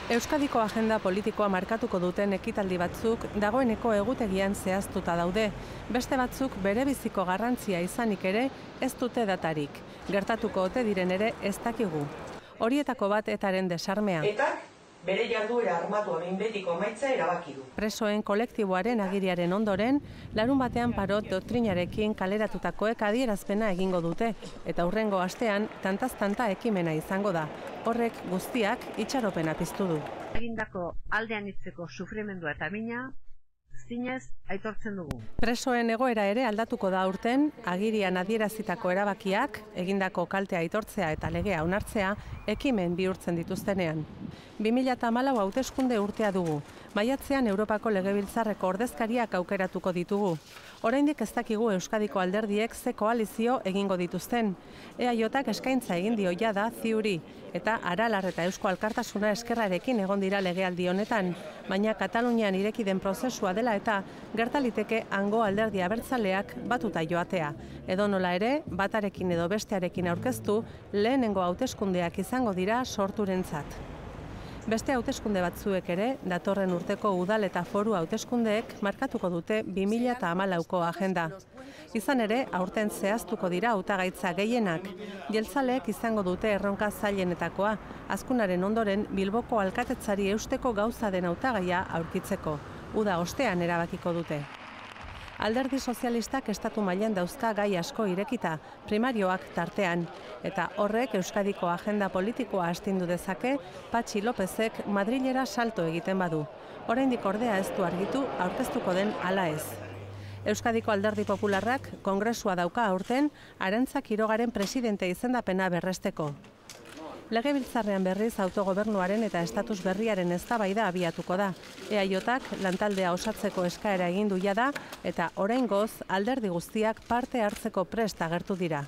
Euskadiko agenda politikoa markatuko duten ekitaldi batzuk dagoeneko egutegian zehaztuta daude. Beste batzuk berebiziko garrantzia izanik ere ez dute datarik. Gertatuko ote diren ere ez dakigu. Horietako bat etaren desarmea. Etak bere jarduera armatua behin betiko amaitza erabaki du. Presoen kolektiboaren agiriaren ondoren, larun batean parot doktrinarekin kaleratutakoek adierazpena egingo dute, eta hurrengo astean tantaz-tanta ekimena izango da. Horrek guztiak itxaropena piztu du. Egindako aldean hitzeko sufrimendua eta mina, zinez aitortzen dugu. Presoen egoera ere aldatuko da aurten, agirian adierazitako erabakiak, egindako kaltea aitortzea eta legea onartzea, ekimen bihurtzen dituztenean. 2014 hauteskunde urtea dugu. Maiatzean Europako Legebiltzarreko ordezkariak aukeratuko ditugu. Oraindik ez dakigu Euskadiko alderdiek ze koalizio egingo dituzten. EAJak eskaintza egin dio jada ziuri, eta Aralar eta Eusko Alkartasuna eskerrarekin egon dira legealdi honetan, baina Katalunian ireki den prozesua dela eta gertaliteke hango alderdi abertzaleak batuta joatea. Edonola ere, batarekin edo bestearekin aurkeztu, lehenengo hauteskundeak izango dira sorturentzat. Beste hauteskunde batzuek ere, datorren urteko udal eta foru hauteskundeek markatuko dute 2014ko agenda. Izan ere, aurten zehaztuko dira hautagaitza gehienak. Jeltzaleek izango dute erronka zailenetakoa, azkunaren ondoren Bilboko alkatetzari eusteko gauza den hautagaia aurkitzeko. Uda ostean erabakiko dute. Alderdi sozialistak estatu mailan dauzka gai asko irekita, primarioak tartean, eta horrek Euskadiko agenda politikoa astindu dezake Patxi Lópezek Madrilera salto egiten badu. Oraindik ordea ez du argitu aurkeztuko den ala ez. Euskadiko Alderdi Popularrak kongresua dauka aurten Arantza Quirogaren presidente izendapena berresteko. Legebiltzarrean berriz autogobernuaren eta estatus berriaren eztabaida abiatuko da. EAJak lantaldea osatzeko eskaera egin du jada eta oraingoz alderdi guztiak parte hartzeko prest agertu dira.